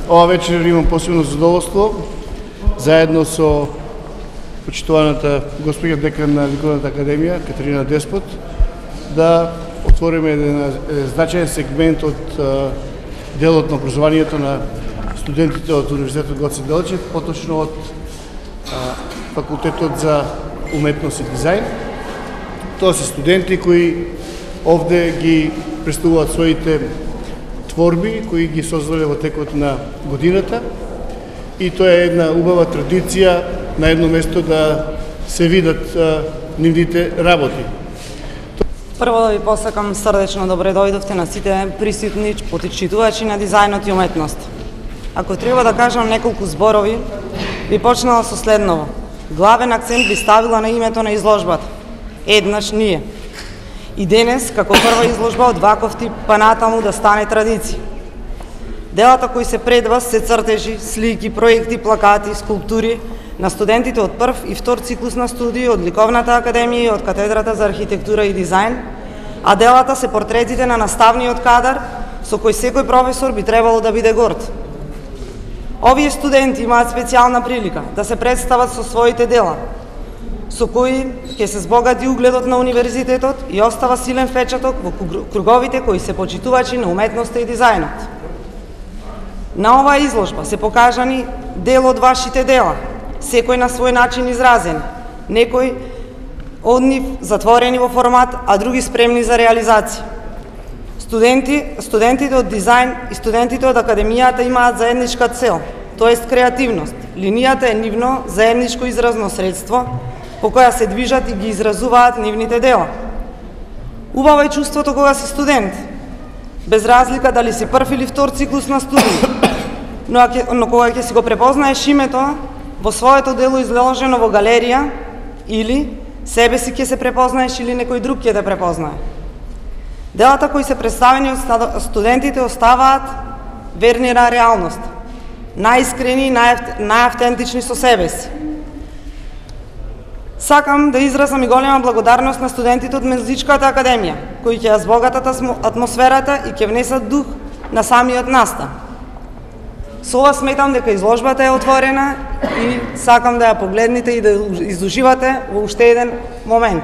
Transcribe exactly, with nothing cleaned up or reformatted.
ова вечер имам посебно задоволство, заедно со почитуваната госпоѓа декан на Ликовната академија, Катерина Деспот, да отвориме еден значаен сегмент од делот на образованието на студентите од Универзитетот Гоце Делчев, поточно од Факултетот за уметност и дизајн. Тоа се студенти кои овде ги представуваат своите творби кои ги создале во текот на годината, и тоа е една убава традиција на едно место да се видат а, нивните работи. Прво да ви посакам срдечно добре дојдовте на сите присутни почитувачи на дизајнот и уметност. Ако треба да кажам неколку зборови, би почнала со следново. Главен акцент би ставила на името на изложбата. Еднаш ние. И денес, како прва изложба од ваков тип, па натаму да стане традиција. Делата кои се пред вас се цртежи, слики, проекти, плакати, скулптури на студентите од прв и втор циклус на студии од Ликовната академија и од Катедрата за архитектура и дизајн, а делата се портретите на наставниот кадар со кој секој професор би требало да биде горд. Овие студенти имаат специјална прилика да се представат со своите дела, со кои ќе се збогати угледот на универзитетот и остава силен впечаток во круговите кои се почитувачи на уметноста и дизајнот. На оваа изложба се покажани дел од вашите дела, секој на свој начин изразени, некои од нив затворени во формат, а други спремни за реализација. Студенти, студентите од дизајн и студентите од академијата имаат заедничка цел, тоест креативност. Линијата е нивно заедничко изразно средство по која се движат и ги изразуваат нивните дела. Убаво е чувството кога си студент, без разлика дали си прв или втор циклус на студии, но, но кога ќе си го препознаеш името во своето дело изложено во галерија, или себе си ќе се препознаеш или некој друг ќе те препознае. Делата кои се представени од студентите оставаат верни на реалност, најискрени и најавтентични со себе си. Сакам да изразам и голема благодарност на студентите од Музичката академија, кои ќе ја збогатат атмосферата и ќе внесат дух на самиот настан. Со ова сметам дека изложбата е отворена и сакам да ја погледнете и да изуживате во уште еден момент.